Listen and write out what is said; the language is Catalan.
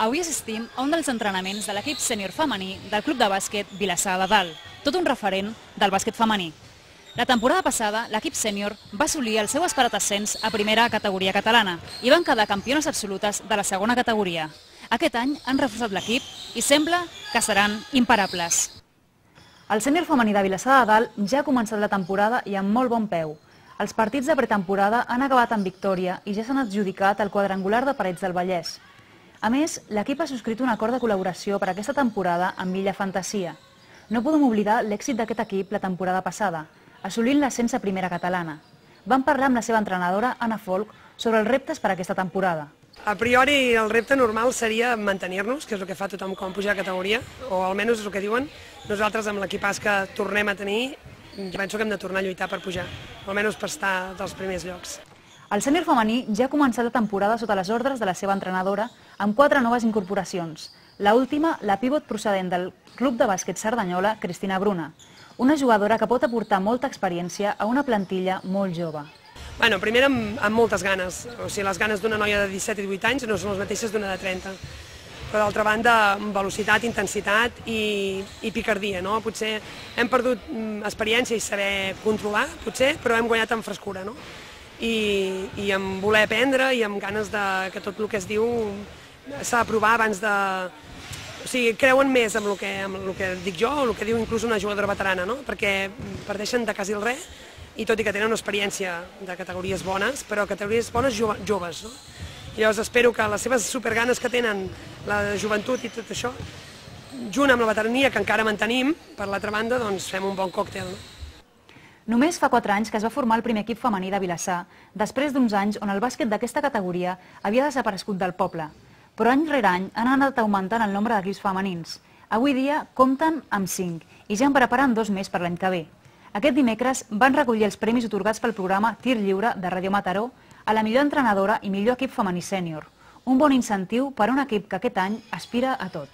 Avui assistim a un dels entrenaments de l'equip sènior femení del Club de Bàsquet Vilassar de Dalt, tot un referent del bàsquet femení. La temporada passada, l'equip sènior va assolir el seu esperat ascens a primera categoria catalana i van quedar campiones absolutes de la segona categoria. Aquest any han reforçat l'equip i sembla que seran imparables. El sènior femení de Vilassar de Dalt ja ha començat la temporada i amb molt bon peu. Els partits de pretemporada han acabat amb victòria i ja s'han adjudicat el quadrangular de Parets del Vallès. A més, l'equip ha subscrit un acord de col·laboració per a aquesta temporada amb Illa Fantasia. No podem oblidar l'èxit d'aquest equip la temporada passada, assolint l'ascens a primera catalana. Vam parlar amb la seva entrenadora, Anna Folk, sobre els reptes per a aquesta temporada. A priori el repte normal seria mantenir-nos, que és el que fa tothom quan puja a categoria, o almenys és el que diuen. Nosaltres amb l'equipàs que tornem a tenir, jo penso que hem de tornar a lluitar per pujar, almenys per estar dels primers llocs. El sènior femení ja ha començat la temporada sota les ordres de la seva entrenadora amb 4 noves incorporacions. L'última, la pivot procedent del Club de Bàsquet Cerdanyola, Cristina Bruna, una jugadora que pot aportar molta experiència a una plantilla molt jove. Primer amb moltes ganes, o sigui, les ganes d'una noia de 17 i 18 anys no són les mateixes d'una de 30. Però d'altra banda, velocitat, intensitat i picardia, no? Potser hem perdut experiència i saber controlar, potser, però hem guanyat en frescura, no? I amb voler aprendre i amb ganes que tot el que es diu s'ha de provar abans de... O sigui, creuen més amb el que dic jo o el que diu inclús una jugadora veterana, no? Perquè parteixen de quasi el res i tot i que tenen una experiència de categories bones, però categories bones joves, no? I llavors espero que les seves superganes que tenen, la joventut i tot això, junt amb la veterania que encara mantenim, per l'altra banda, doncs fem un bon còctel, no? Només fa 4 anys que es va formar el primer equip femení de Vilassar, després d'uns anys on el bàsquet d'aquesta categoria havia desaparegut del poble. Però any rere any han anat augmentant el nombre d'equips femenins. Avui dia compten amb 5 i ja en preparen 2 més per l'any que ve. Aquest dimecres van recollir els premis atorgats pel programa Tir Lliure de Ràdio Mataró a la millor entrenadora i millor equip femení sènior. Un bon incentiu per a un equip que aquest any aspira a tot.